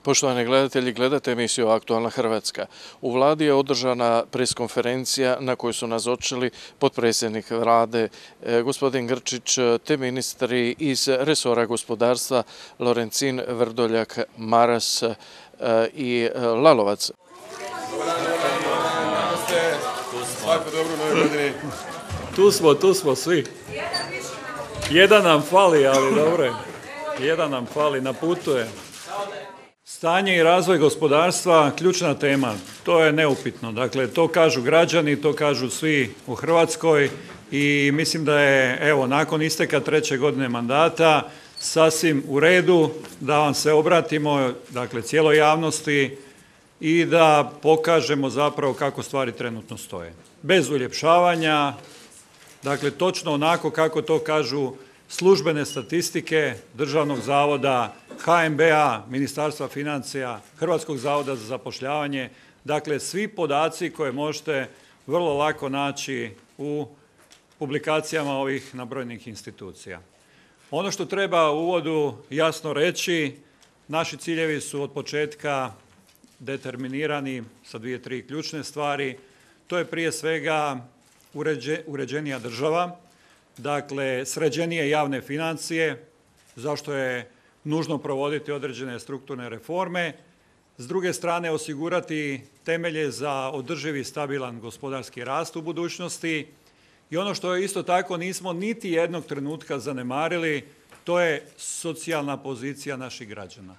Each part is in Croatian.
Poštovani gledatelji, gledate emisiju Aktualna Hrvatska. U vladi je održana preskonferencija na kojoj su nazočili potpredsjednik vlade gospodin Grčić te ministri iz resora gospodarstva Lorencin, Vrdoljak, Maras i Lalovac. Tu smo svi. Jedan nam fali, ali dobro je. Jedan nam fali, na putu je. Stanje i razvoj gospodarstva, ključna tema, to je neupitno. Dakle, to kažu građani, to kažu svi u Hrvatskoj i mislim da je, evo, nakon isteka 3. godine mandata sasvim u redu da vam se obratimo, dakle, cijeloj javnosti i da pokažemo zapravo kako stvari trenutno stoje. Bez uljepšavanja, dakle, točno onako kako to kažu službene statistike Državnog zavoda, HNB-a, Ministarstva financija, Hrvatskog zavoda za zapošljavanje, dakle svi podaci koje možete vrlo lako naći u publikacijama ovih nabrojenih institucija. Ono što treba u uvodu jasno reći, naši ciljevi su od početka determinirani sa 2-3 ključne stvari. To je prije svega uređenija država, dakle sređenije javne financije, zašto je nužno provoditi određene strukturne reforme. S druge strane osigurati temelje za održivi stabilan gospodarski rast u budućnosti. I ono što je isto tako nismo niti jednog trenutka zanemarili, to je socijalna pozicija naših građana.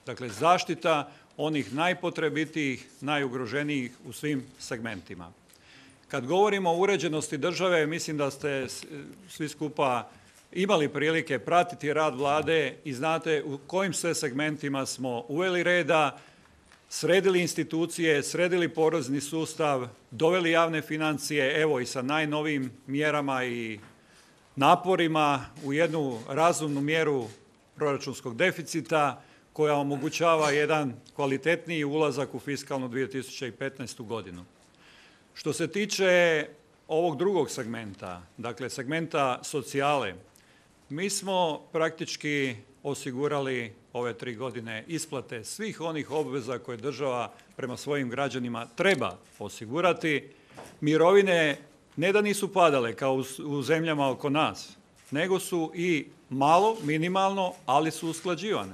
Dakle, zaštita onih najpotrebitijih, najugroženijih u svim segmentima. Kad govorimo o uređenosti države, mislim da ste svi skupa imali prilike pratiti rad vlade i znate u kojim sve segmentima smo uveli reda, sredili institucije, sredili porezni sustav, doveli javne financije, evo i sa najnovijim mjerama i naporima u jednu razumnu mjeru proračunskog deficita koja omogućava jedan kvalitetniji ulazak u fiskalnu 2015. godinu. Što se tiče ovog drugog segmenta, dakle segmenta socijale, mi smo praktički osigurali ove 3 godine isplate svih onih obveza koje država prema svojim građanima treba osigurati. Mirovine ne da nisu padale kao u zemljama oko nas, nego su i malo, minimalno, ali su usklađivane.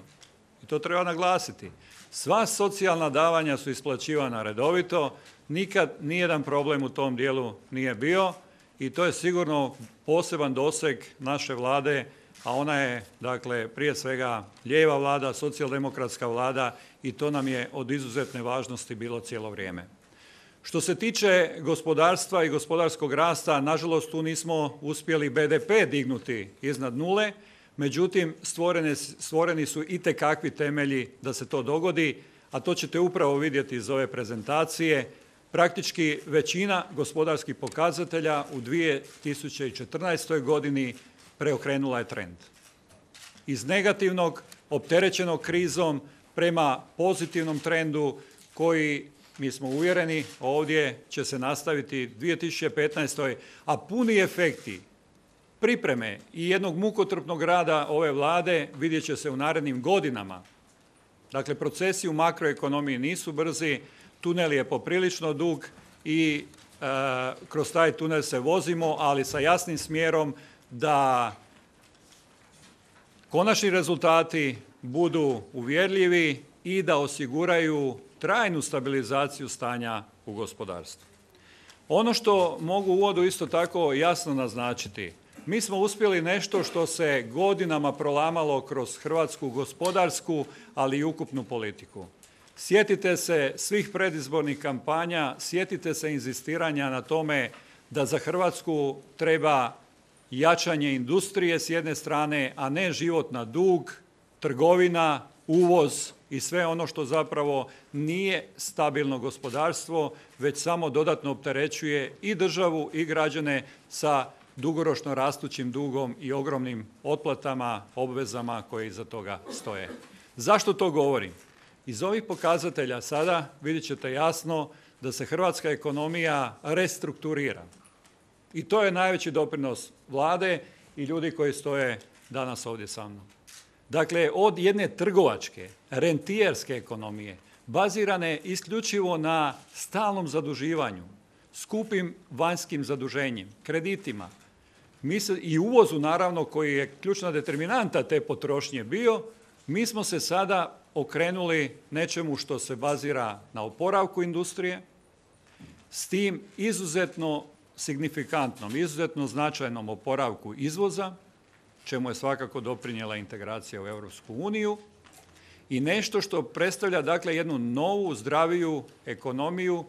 I to treba naglasiti. Sva socijalna davanja su isplaćivana redovito, nikad nijedan problem u tom dijelu nije bio i to je sigurno poseban doseg naše vlade, a ona je, dakle, prije svega lijeva vlada, socijaldemokratska vlada i to nam je od izuzetne važnosti bilo cijelo vrijeme. Što se tiče gospodarstva i gospodarskog rasta, nažalost tu nismo uspjeli BDP dignuti iznad nule, međutim stvoreni su itekakvi temelji da se to dogodi, a to ćete upravo vidjeti iz ove prezentacije. Praktički većina gospodarskih pokazatelja u 2014. godini preokrenula je trend. Iz negativnog, opterećenog krizom, prema pozitivnom trendu koji, mi smo uvjereni, ovdje će se nastaviti 2015. a puni efekti pripreme i jednog mukotrpnog rada ove vlade vidjet će se u narednim godinama. Dakle, procesi u makroekonomiji nisu brzi, tunel je poprilično dug i kroz taj tunel se vozimo, ali sa jasnim smjerom da konačni rezultati budu uvjerljivi i da osiguraju trajnu stabilizaciju stanja u gospodarstvu. Ono što mogu u uvodu isto tako jasno naznačiti, mi smo uspjeli nešto što se godinama prolamalo kroz hrvatsku gospodarsku, ali i ukupnu politiku. Sjetite se svih predizbornih kampanja, sjetite se inzistiranja na tome da za Hrvatsku treba jačanje industrije s jedne strane, a ne život na dug, trgovina, uvoz i sve ono što zapravo nije stabilno gospodarstvo, već samo dodatno opterećuje i državu i građane sa dugoročno rastućim dugom i ogromnim otplatama, obvezama koje iza toga stoje. Zašto to govorim? Iz ovih pokazatelja sada vidjet ćete jasno da se hrvatska ekonomija restrukturira. I to je najveći doprinos vlade i ljudi koji stoje danas ovdje sa mnom. dakle od jedne trgovačke, rentijerske ekonomije, bazirane isključivo na stalnom zaduživanju, skupim vanjskim zaduženjem, kreditima, i uvozu naravno koji je ključna determinanta te potrošnje bio, mi smo se sada okrenuli nečemu što se bazira na oporavku industrije, s tim izuzetno signifikantnom, izuzetno značajnom oporavku izvoza, čemu je svakako doprinijela integracija u Europsku uniju, i nešto što predstavlja dakle jednu novu, zdraviju ekonomiju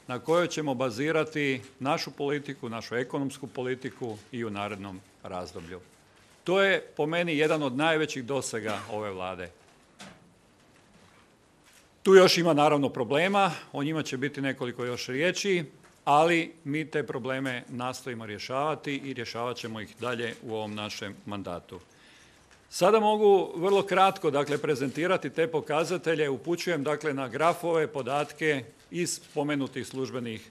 na kojoj ćemo bazirati našu politiku, našu ekonomsku politiku i u narednom razdoblju. To je po meni jedan od najvećih dosega ove Vlade. Tu još ima naravno problema, o njima će biti nekoliko još riječi, ali mi te probleme nastojimo rješavati i rješavat ćemo ih dalje u ovom našem mandatu. Sada mogu vrlo kratko dakle, prezentirati te pokazatelje, upućujem dakle, na grafove, podatke iz spomenutih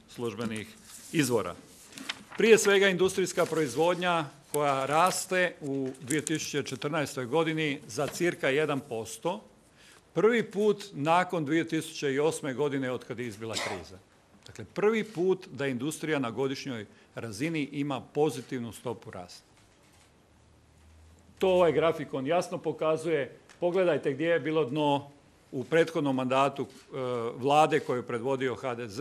službenih izvora. Prije svega industrijska proizvodnja koja raste u 2014. godini za cirka 1%, prvi put nakon 2008. godine od kada je izbila kriza. Dakle, prvi put da industrija na godišnjoj razini ima pozitivnu stopu rasta. To ovaj grafikon jasno pokazuje. Pogledajte gdje je bilo dno u prethodnom mandatu Vlade koju je predvodio HDZ,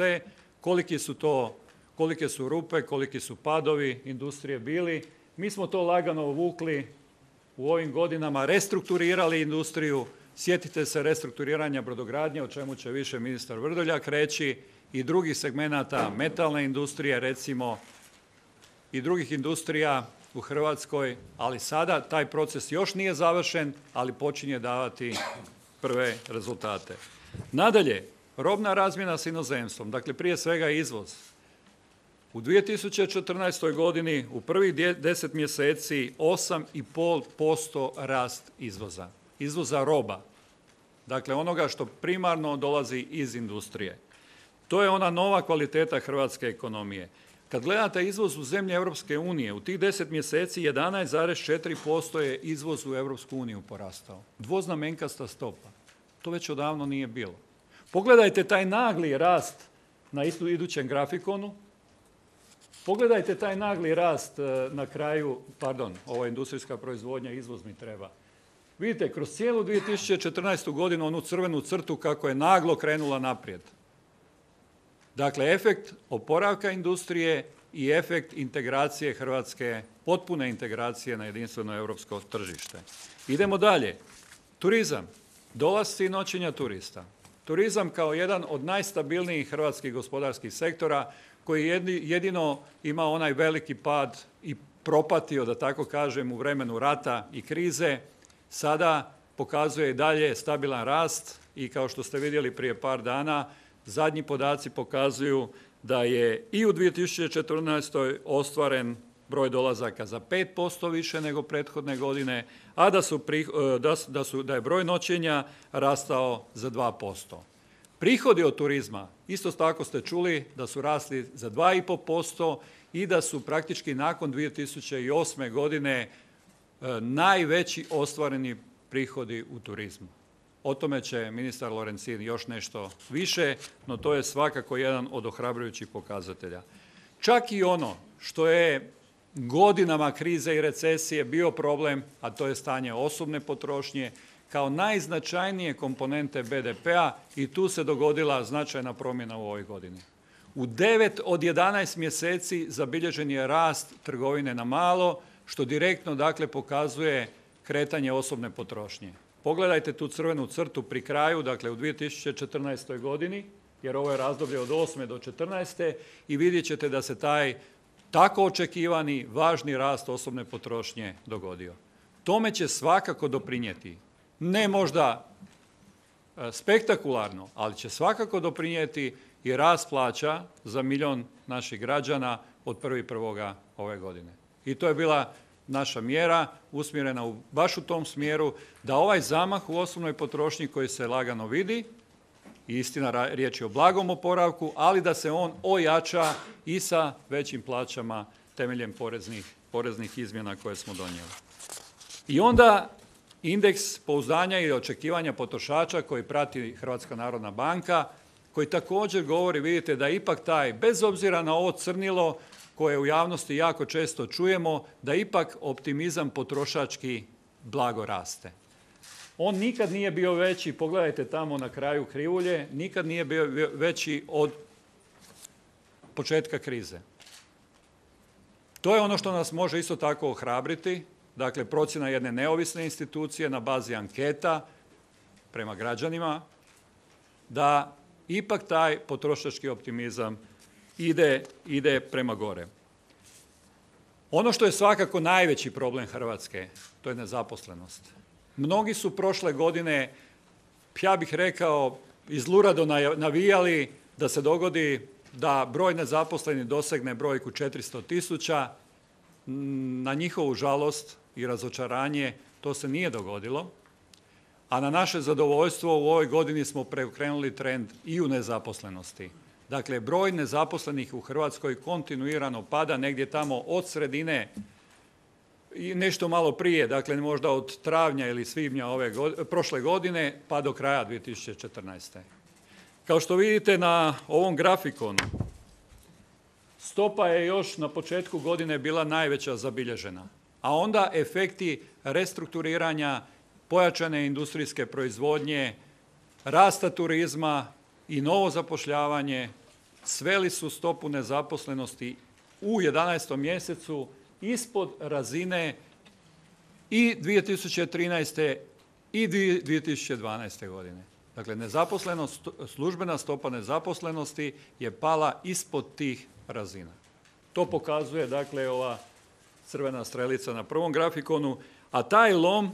kolike su rupe, koliki su padovi industrije bili. Mi smo to lagano vukli u ovim godinama, restrukturirali industriju. Sjetite se restrukturiranja brodogradnje, o čemu će više ministar Vrdoljak reći, i drugih segmenata metalne industrije, recimo, i drugih industrija u Hrvatskoj, ali sada taj proces još nije završen, ali počinje davati prve rezultate. Nadalje, robna razmjena s inozemstvom, dakle prije svega izvoz. U 2014. godini u prvih 10 mjeseci 8,5% rast izvoza. Izvoza roba. Dakle, onoga što primarno dolazi iz industrije. To je ona nova kvaliteta hrvatske ekonomije. Kad gledate izvoz u zemlje Europske unije, u tih 10 mjeseci 11,4% je izvoz u Europsku uniju porastao. Dvoznamenkasta stopa. To već odavno nije bilo. Pogledajte taj nagli rast na idućem grafikonu. Pogledajte taj nagli rast na kraju, ova industrijska proizvodnja, izvoz mi treba. Vidite, kroz cijelu 2014. godinu onu crvenu crtu kako je naglo krenula naprijed. Dakle, efekt oporavka industrije i efekt integracije Hrvatske, potpune integracije na jedinstveno europsko tržište. Idemo dalje. Turizam. Dolasci i noćenja turista. Turizam kao jedan od najstabilnijih hrvatskih gospodarskih sektora koji jedino ima onaj veliki pad i propatio, da tako kažem, u vremenu rata i krize, sada pokazuje i dalje stabilan rast i kao što ste vidjeli prije par dana, zadnji podaci pokazuju da je i u 2014. ostvaren broj dolazaka za 5% više nego prethodne godine, a da je broj noćenja rastao za 2%. Prihodi od turizma, isto tako ste čuli da su rasli za 2,5% i da su praktički nakon 2008. godine najveći ostvareni prihodi u turizmu. O tome će ministar Lorencin još nešto više, no to je svakako jedan od ohrabrujućih pokazatelja. Čak i ono što je godinama krize i recesije bio problem, a to je stanje osobne potrošnje, kao najznačajnije komponente BDP-a, i tu se dogodila značajna promjena u ovoj godini. U 9 od 11 mjeseci zabilježen je rast trgovine na malo, što direktno dakle pokazuje kretanje osobne potrošnje. Pogledajte tu crvenu crtu pri kraju, dakle u 2014. godini, jer ovo je razdoblje od 8. do 14. i vidjet ćete da se taj tako očekivani važni rast osobne potrošnje dogodio. Tome će svakako doprinijeti, ne možda spektakularno, ali će svakako doprinijeti i rast plaća za 1 milijun naših građana od 1.1. ove godine. I to je bila naša mjera usmjerena baš u tom smjeru da ovaj zamah u osobnoj potrošnji koji se lagano vidi, istina riječ je o blagom oporavku, ali da se on ojača i sa većim plaćama temeljem poreznih izmjena koje smo donijeli. I onda indeks pouzdanja i očekivanja potrošača koji prati Hrvatska narodna banka, koji također govori, vidite da ipak taj, bez obzira na ovo crnilo koje u javnosti jako često čujemo, da ipak optimizam potrošački blago raste. On nikad nije bio veći, pogledajte tamo na kraju krivulje, nikad nije bio veći od početka krize. To je ono što nas može isto tako ohrabriti, dakle procjena jedne neovisne institucije na bazi anketa prema građanima, da ipak taj potrošački optimizam ide prema gore. Ono što je svakako najveći problem Hrvatske, to je nezaposlenost. Mnogi su prošle godine, ja bih rekao, izlurado navijali da se dogodi da broj nezaposlenih dosegne brojku 400.000. Na njihovu žalost i razočaranje to se nije dogodilo, a na naše zadovoljstvo u ovoj godini smo preokrenuli trend i u nezaposlenosti. Dakle, broj nezaposlenih u Hrvatskoj kontinuirano pada negdje tamo od sredine i nešto malo prije, dakle možda od travnja ili svibnja prošle godine pa do kraja 2014. Kao što vidite na ovom grafikonu, stopa je još na početku godine bila najveća zabilježena, a onda efekti restrukturiranja, pojačane industrijske proizvodnje, rasta turizma i novo zapošljavanje sveli su stopu nezaposlenosti u 11. mjesecu ispod razine i 2013. i 2012. godine. Dakle, službena stopa nezaposlenosti je pala ispod tih razina. To pokazuje, dakle, ova crvena strelica na prvom grafikonu, a taj lom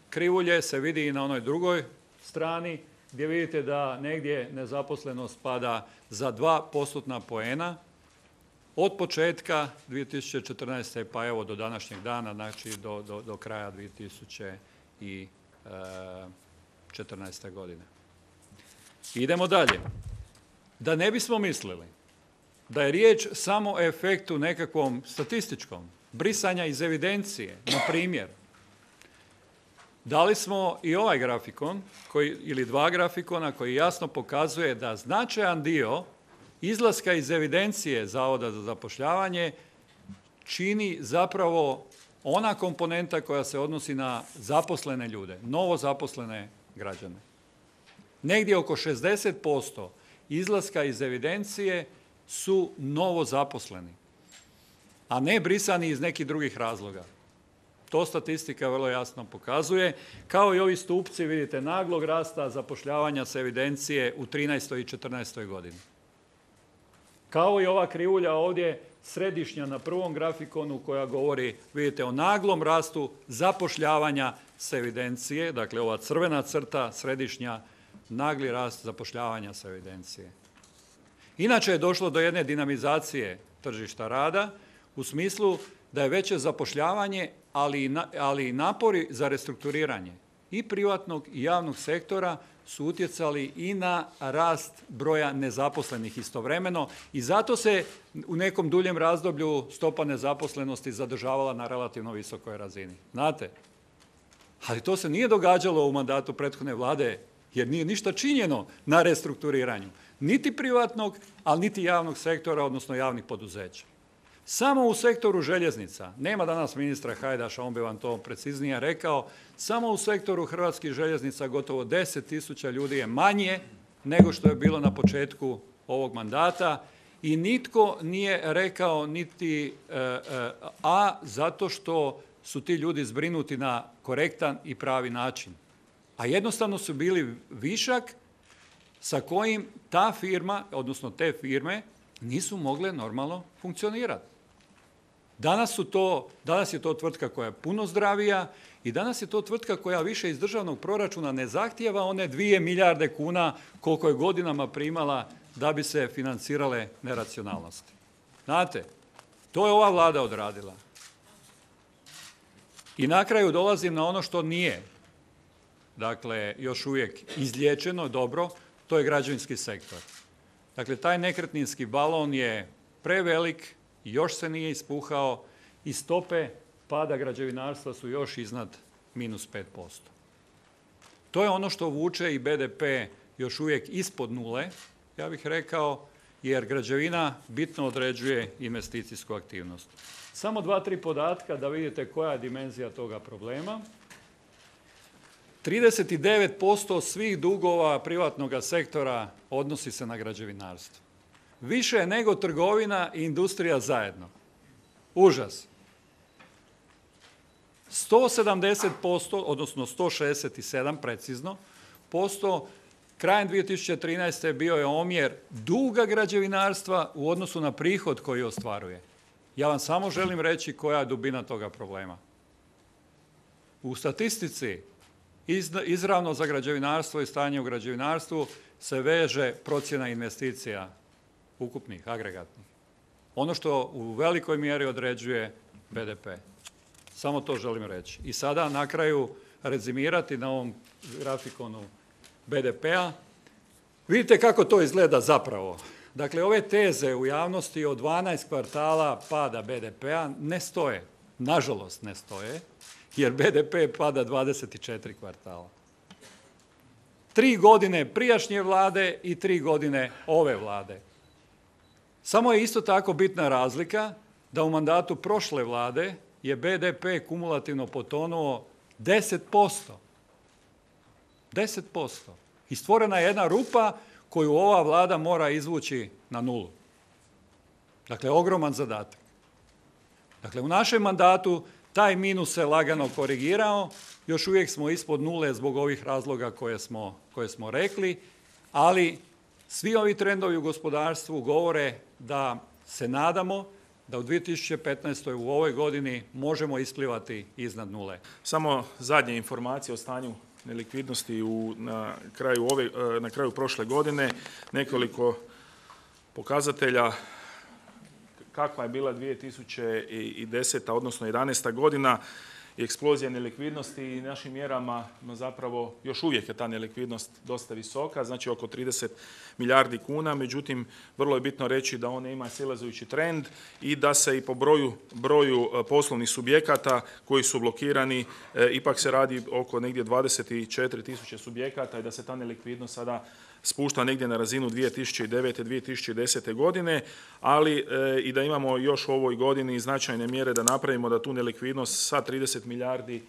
krivulje se vidi i na onoj drugoj strani, gdje vidite da negdje nezaposlenost pada za 2% poena od početka 2014. pa evo do današnjeg dana, znači do kraja 2014. godine. Idemo dalje. Da ne bismo mislili da je riječ samo o efektu nekakvom statističkom, brisanja iz evidencije, na primjer, dali smo i ovaj grafikon, ili dva grafikona koji jasno pokazuje da značajan dio izlaska iz evidencije Zavoda za zapošljavanje čini zapravo ona komponenta koja se odnosi na zaposlene ljude, novo zaposlene građane. Negdje oko 60% izlaska iz evidencije su novo zaposleni, a ne brisani iz nekih drugih razloga. To statistika vrlo jasno pokazuje, kao i ovi stupci, vidite, naglog rasta zapošljavanja s evidencije u 13. i 14. godini. Kao i ova krivulja ovdje, središnja na prvom grafikonu koja govori, vidite, o naglom rastu zapošljavanja s evidencije, dakle ova crvena crta, središnja, nagli rast zapošljavanja s evidencije. Inače je došlo do jedne dinamizacije tržišta rada u smislu da je veće zapošljavanje, ali i napori za restrukturiranje i privatnog i javnog sektora su utjecali i na rast broja nezaposlenih istovremeno i zato se u nekom duljem razdoblju stopa nezaposlenosti zadržavala na relativno visokoj razini. Znate? Ali to se nije događalo u mandatu prethodne vlade jer nije ništa činjeno na restrukturiranju. Niti privatnog, ali niti javnog sektora, odnosno javnih poduzeća. Samo u sektoru željeznica, nema danas ministra Hajdaša, on bi vam to preciznije rekao, samo u sektoru hrvatskih željeznica gotovo 10.000 ljudi je manje nego što je bilo na početku ovog mandata i nitko nije rekao niti zato što su ti ljudi zbrinuti na korektan i pravi način. A jednostavno su bili višak sa kojim ta firma, odnosno te firme, nisu mogle normalno funkcionirati. Danas je to tvrtka koja je puno zdravija i danas je to tvrtka koja više iz državnog proračuna ne zahtijeva one 2 milijarde kuna koliko je godinama primala da bi se financirale neracionalnosti. Znate, to je ova vlada odradila. I na kraju dolazim na ono što nije, dakle, još uvijek izliječeno dobro, to je građevinski sektor. Dakle, taj nekretninski balon je prevelik, još se nije ispuhao i stope pada građevinarstva su još iznad -5%. To je ono što vuče i BDP još uvijek ispod nule, ja bih rekao, jer građevina bitno određuje investicijsku aktivnost. Samo 2-3 podatka da vidite koja je dimenzija toga problema. 39% svih dugova privatnog sektora odnosi se na građevinarstvo. Više nego trgovina i industrija zajedno. Užas. 170%, odnosno 167 precizno, krajem 2013. bio je omjer duga građevinarstva u odnosu na prihod koji ostvaruje. Ja vam samo želim reći koja je dubina toga problema. U statistici izravno za građevinarstvo i stanje u građevinarstvu se veže procjena investicija ukupnih, agregatnih. Ono što u velikoj mjeri određuje BDP. Samo to želim reći. I sada na kraju rezimirati na ovom grafikonu BDP-a. Vidite kako to izgleda zapravo. Dakle, ove teze u javnosti od 12 kvartala pada BDP-a ne stoje. Nažalost ne stoje, jer BDP pada 24 kvartala. 3 godine prijašnje vlade i 3 godine ove vlade. Samo je isto tako bitna razlika da u mandatu prošle vlade je BDP kumulativno potonuo 10%. 10%. I stvorena je jedna rupa koju ova vlada mora izvući na nulu. Dakle, ogroman zadatak. Dakle, u našem mandatu taj minus se lagano korigirao, još uvijek smo ispod nule zbog ovih razloga koje smo rekli, ali svi ovi trendovi u gospodarstvu govore da se nadamo da u 2015. u ovoj godini možemo isplivati iznad nule. Samo zadnje informacije o stanju nelikvidnosti na kraju prošle godine, nekoliko pokazatelja kakva je bila 2010. odnosno 2011. godina i eksplozija nelikvidnosti i našim mjerama zapravo još uvijek je ta nelikvidnost dosta visoka, znači oko 30 milijardi kuna, međutim vrlo je bitno reći da ona ima silazujući trend i da se i po broju poslovnih subjekata koji su blokirani, ipak se radi oko negdje 24 tisuće subjekata i da se ta nelikvidnost sada spušta negdje na razinu 2009. 2010. godine, ali i da imamo još u ovoj godini značajne mjere da napravimo da tu nelikvidnost sa 30 milijardi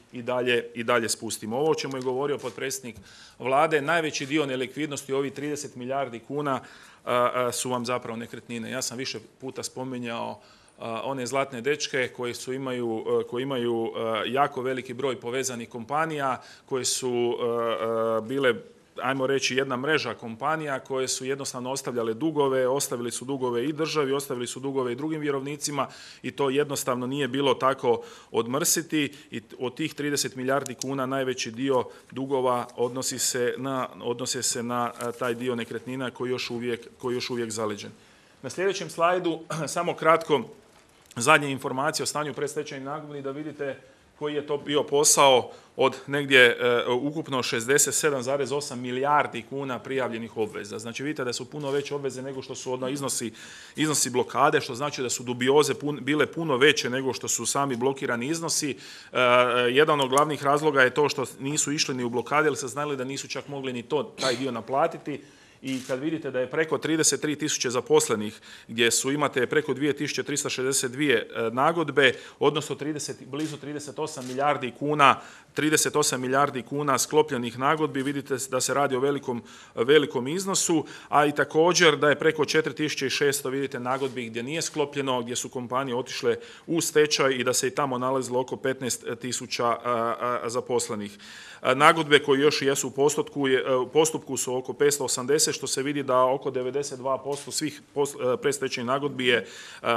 i dalje spustimo. Ovo o čemu je govorio potpredsjednik vlade, najveći dio nelikvidnosti, ovih 30 milijardi kuna, su vam zapravo nekretnine. Ja sam više puta spominjao one zlatne dečke koji imaju jako veliki broj povezanih kompanija, koje su bile, ajmo reći, jedna mreža kompanija koje su jednostavno ostavljale dugove, ostavili su dugove i državi, ostavili su dugove i drugim vjerovnicima i to jednostavno nije bilo tako odmrsiti i od tih 30 milijardi kuna najveći dio dugova odnose se na taj dio nekretnina koji je još uvijek zaleđen. Na sljedećem slajdu samo kratko zadnje informacije o stanju predstečajnih nagodbi da vidite koji je to bio posao od negdje ukupno 67,8 milijardi kuna prijavljenih obveza. Znači vidite da su puno veće obveze nego što su iznosi blokade, što znači da su dubioze bile puno veće nego što su sami blokirani iznosi. Jedan od glavnih razloga je to što nisu išli ni u blokade, jer se znali da nisu čak mogli ni taj dio naplatiti. I kad vidite da je preko 33 tisuće zaposlenih, gdje imate preko 2362 nagodbe, odnosno blizu 38 milijardi kuna sklopljenih nagodbi, vidite da se radi o velikom iznosu, a i također da je preko 4600 vidite nagodbi gdje nije sklopljeno, gdje su kompanije otišle u stečaj i da se i tamo nalazilo oko 15 tisuća zaposlenih. Nagodbe koje još jesu u postupku su oko 580, što se vidi da oko 92% svih predstečajnih nagodbi je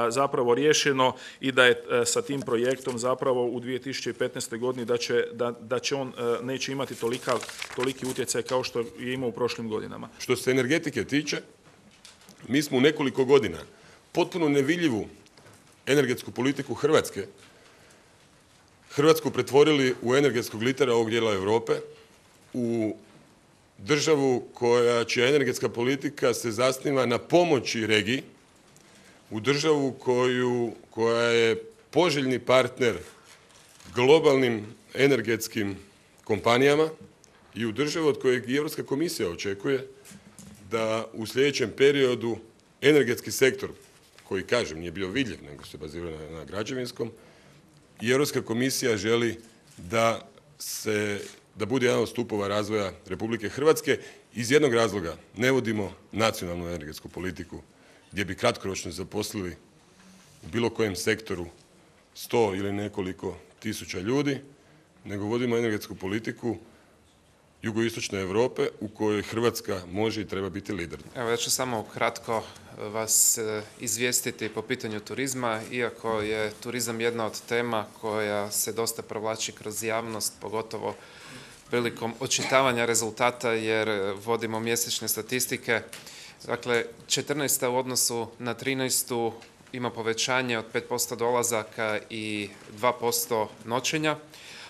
zapravo riješeno i da je sa tim projektom zapravo u 2015. godini da će on neće imati toliki utjecaj kao što je imao u prošlim godinama. Što se energetike tiče, mi smo u nekoliko godina potpuno nevidljivu energetsku politiku Hrvatsku pretvorili u energetskog litera ovog dijela Europe, u državu čija energetska politika se zasniva na pomoći regiji, u državu koja je poželjni partner globalnim energetskim kompanijama i u državu od kojeg i Europska komisija očekuje da u sljedećem periodu energetski sektor, koji kažem nije bio vidljiv nego se bazira na građevinskom, i Europska komisija želi da bude jedan od stupova razvoja Republike Hrvatske. Iz jednog razloga ne vodimo nacionalnu energetsku politiku gdje bi kratkoročno zaposlili u bilo kojem sektoru 100 ili nekoliko tisuća ljudi, nego vodimo energetsku politiku jugoistočne Europe u kojoj Hrvatska može i treba biti lider. Evo, ja ću samo kratko vas izvijestiti po pitanju turizma, iako je turizam jedna od tema koja se dosta provlači kroz javnost, pogotovo prilikom očitavanja rezultata jer vodimo mjesečne statistike. Dakle, 14. u odnosu na 13. ima povećanje od 5% dolazaka i 2% noćenja.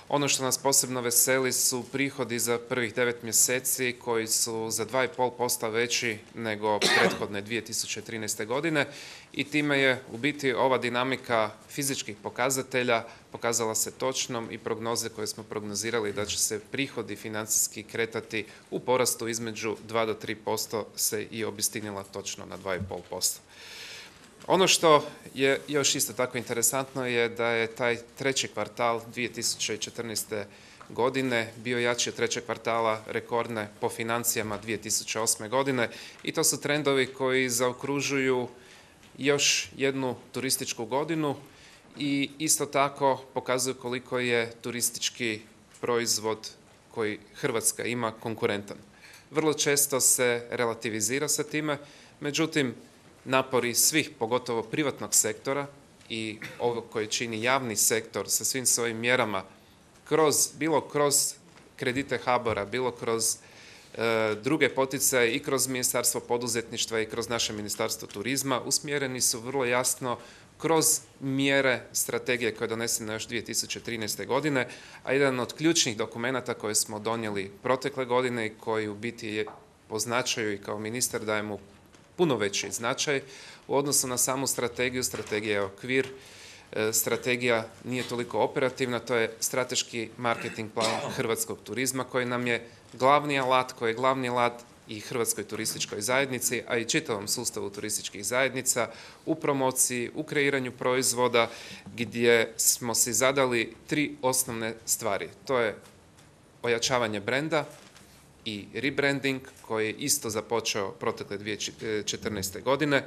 Ono što nas posebno veseli su prihodi za prvih 9 mjeseci koji su za 2,5% veći nego prethodne 2013. godine i time je u biti ova dinamika fizičkih pokazatelja pokazala se točnom i prognoze koje smo prognozirali da će se prihodi financijski kretati u porastu između 2 do 3% se i obistinila točno na 2,5%. Ono što je još isto tako interesantno je da je taj treći kvartal 2014. godine bio jači od trećeg kvartala rekordne po financijama 2008. godine i to su trendovi koji zaokružuju još jednu turističku godinu i isto tako pokazuju koliko je turistički proizvod koji Hrvatska ima konkurentan. Vrlo često se relativizira sa time, međutim, napori svih, pogotovo privatnog sektora i ovo koji čini javni sektor sa svim svojim mjerama, bilo kroz kredite HBOR-a, bilo kroz druge poticaje i kroz Ministarstvo poduzetništva i kroz naše Ministarstvo turizma, usmjereni su vrlo jasno kroz mjere strategije koje je donesena još 2013. godine, a jedan od ključnih dokumenata koje smo donijeli protekle godine i koji u biti je po značaju i kao ministar daje mu puno veći značaj u odnosu na samu strategiju. Strategija je okvir, strategija nije toliko operativna, to je strateški marketing plan hrvatskog turizma koji nam je glavni alat, koji je glavni alat i Hrvatskoj turističkoj zajednici, a i čitavom sustavu turističkih zajednica u promociji, u kreiranju proizvoda gdje smo si zadali 3 osnovne stvari. To je ojačavanje brenda i rebranding koji je isto započeo protekle 2014. godine.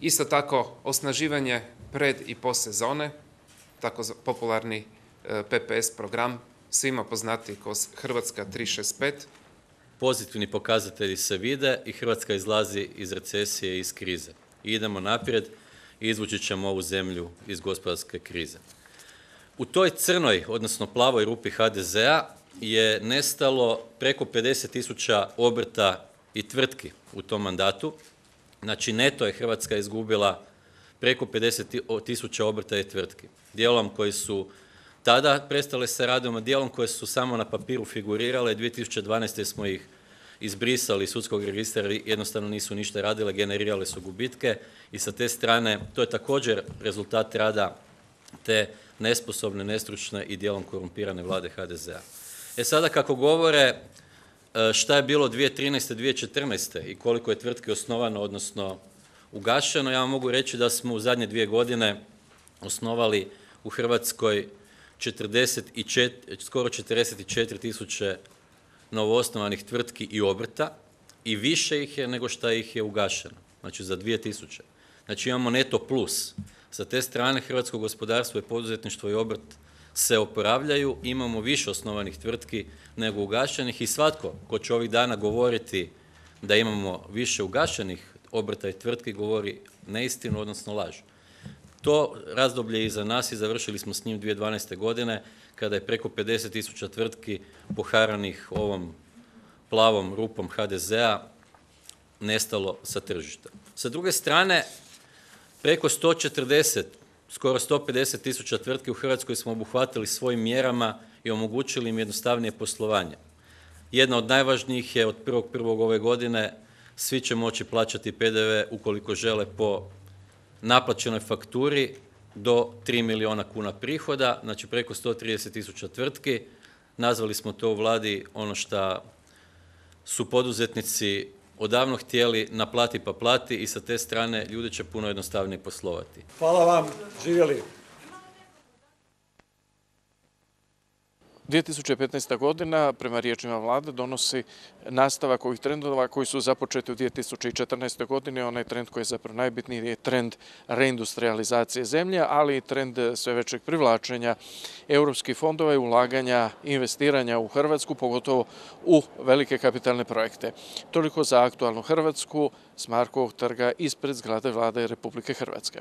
Isto tako osnaživanje pred i postsezone, tako popularni PPS program, svima poznati kroz Hrvatska 365. Pozitivni pokazatelji se vide i Hrvatska izlazi iz recesije i iz krize. I idemo naprijed i izvući ćemo ovu zemlju iz gospodarske krize. U toj crnoj, odnosno plavoj rupi HDZ-a je nestalo preko 50.000 obrta i tvrtki u tom mandatu. Znači neto je Hrvatska izgubila preko 50.000 obrta i tvrtki. Dijelom koji su tada prestale sa radom, a dijelom koje su samo na papiru figurirale. 2012. smo ih izbrisali iz sudskog registra, jednostavno nisu ništa radile, generirale su gubitke i sa te strane to je također rezultat rada te nesposobne, nestručne i dijelom korumpirane vlade HDZ-a. Sada kako govore šta je bilo 2013. 2014. i koliko je tvrtki osnovano, odnosno ugašeno, ja vam mogu reći da smo u zadnje 2 godine osnovali u Hrvatskoj skoro 44.000 novoosnovanih tvrtki i obrta i više ih je nego što ih je ugašeno, znači za 2.000. Znači imamo neto plus. Sa te strane hrvatsko gospodarstvo i poduzetništvo i obrt se oporavljaju, imamo više osnovanih tvrtki nego ugašenih i svatko ko će ovih dana govoriti da imamo više ugašenih obrta i tvrtki govori neistinu, odnosno laž. To razdoblje je iza nas i završili smo s njim 2012. godine kada je preko 50.000 tvrtki poharanih ovom plavom rupom HDZ-a nestalo sa tržišta. Sa druge strane, preko 140, skoro 150.000 tvrtki u Hrvatskoj smo obuhvatili svojim mjerama i omogućili im jednostavnije poslovanje. Jedna od najvažnijih je od 1.1. ove godine svi će moći plaćati PDV ukoliko žele po naplaćenoj fakturi do 3 milijuna kuna prihoda, znači preko 130.000 tvrtki nazvali smo to u vladi ono što su poduzetnici odavno htjeli, naplati pa plati, i sa te strane ljudi će puno jednostavnije poslovati. Hvala vam, živjeli. 2015. godina, prema riječima vlade, donosi nastavak ovih trendova koji su započeti u 2014. godini. Onaj trend koji je zapravo najbitniji je trend reindustrializacije zemlje, ali i trend sve većeg privlačenja europskih fondova i ulaganja, investiranja u Hrvatsku, pogotovo u velike kapitalne projekte. Toliko za aktualnu Hrvatsku s Markovog trga ispred zgrade Vlade Republike Hrvatske.